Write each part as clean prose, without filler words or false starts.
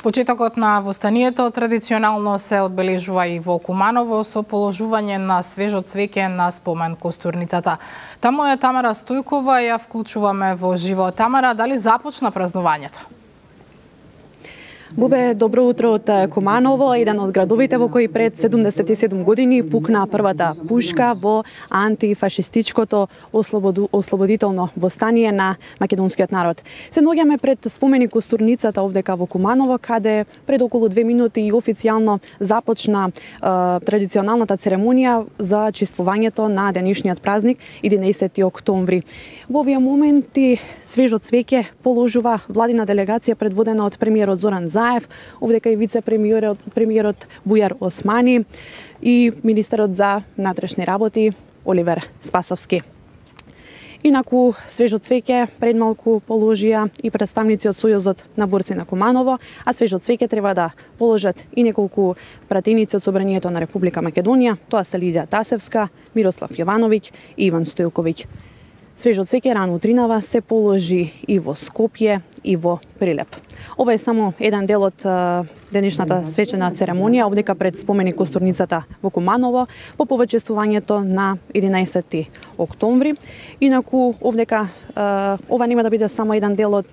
Почетокот на востанието традиционално се одбележува и во Куманово со положување на свежо цвеќе на спомен костурницата. Таму е Тамара Стојкова, ја вклучуваме во живо. Тамара, дали започна празнувањето? Бубе, добро утро од Куманово, еден од градовите во кои пред 77 години пукна првата пушка во антифашистичкото ослободително востание на македонскиот народ. Се наоѓаме пред споменик костурницата овдека во Куманово, каде пред околу 2 минути и официјално започна традиционалната церемонија за чествувањето на денешниот празник 11 октомври. Во овие моменти свежо цвеќе положува владина делегација предводена од премиерот Зоран Заев, овдека и вице-премиерот Бујар Османи и министерот за внатрешни работи Оливер Спасовски. Инаку свежо цвеќе пред малку положија и представници од Сојузот на борци на Куманово, а свежо цвеќе треба да положат и неколку пратеници од Собранието на Република Македонија, тоа се Лидија Тасевска, Мирослав Јовановиќ и Иван Стојковиќ. Свежо цвеќе рано утринава се положи и во Скопје и во Прилеп. Ова е само еден дел од денешната свечена церемонија, овдека пред споменик костурницата во Куманово, по повечествувањето на 11 октомври. Инаку, овдека ова нема да биде само еден дел од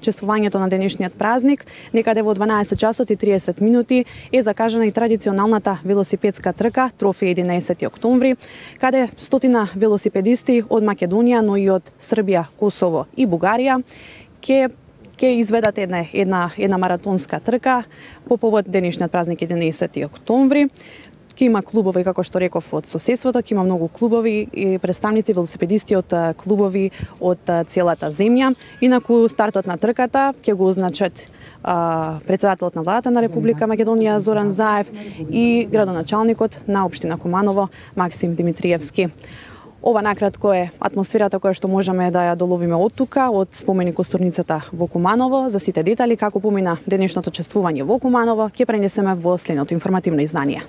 чествувањето на денешниот празник. Некаде во 12 часот и 30 минути е закажана и традиционалната велосипедска трка Трофеј 11 октомври, каде стотина велосипедисти од Македонија, но и од Србија, Косово и Бугарија ќе изведат една маратонска трка по повод денешниот празник 11 октомври. Ќе има клубови, како што реков, од соседството, ќе има многу клубови и представници велосипедисти од клубови од целата земја. Инаку стартот на трката ќе го означат председателот на владата на Република Македонија Зоран Заев и градоначалникот на општина Куманово Максим Димитриевски. Ова накратко е атмосферата која што можеме да ја доловиме од тука, од споменик костурницата во Куманово. За сите детали како помина денешното чествување во Куманово ќе пренесеме во следното информативно издание.